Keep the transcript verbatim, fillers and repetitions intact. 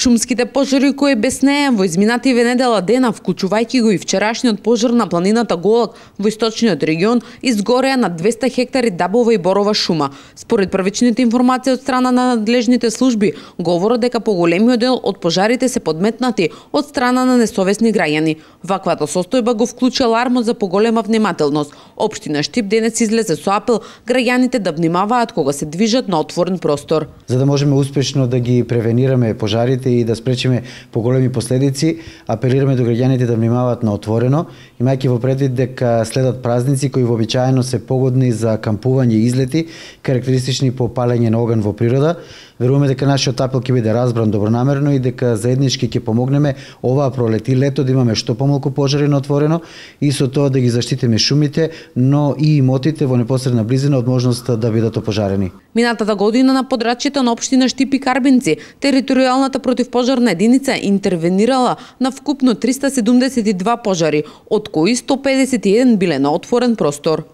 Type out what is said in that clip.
Шумските пожари кои беснеа во изминативе недела дена, вклучувајќи го и вчерашниот пожар на планината Голак во источниот регион, изгореа на двесте хектари дабова и борова шума. Според првичните информации од страна на надлежните служби, говорат дека поголемиот дел од пожарите се подметнати од страна на несовесни граѓани. Ваквата состојба го вклучи алармот за поголема внимателност. Општина Штип денес излезе со апел граѓаните да внимаваат кога се движат на отворен простор. За да можеме успешно да ги превенираме пожарите и да спречиме поголеми последици, апелираме до граѓаните да внимаваат на отворено, имајќи во предвид дека следат празници кои вообичаено се погодни за кампување и излети, карактеристични по палење на оган во природа. Веруваме дека нашиот апел ќе биде разбран добронамерно и дека заеднички ќе помогнеме оваа пролет и лето да имаме што помалку пожари на отворено и со тоа да ги заштитиме шумите, но и имотите во непосредна близина од можноста да бидат опожарени. Минатата година на подрачјето на општина Штип и Карбинци, територијалната противпожарна единица интервенирала на вкупно триста седумдесет и два пожари, од кои сто педесет и еден биле на отворен простор.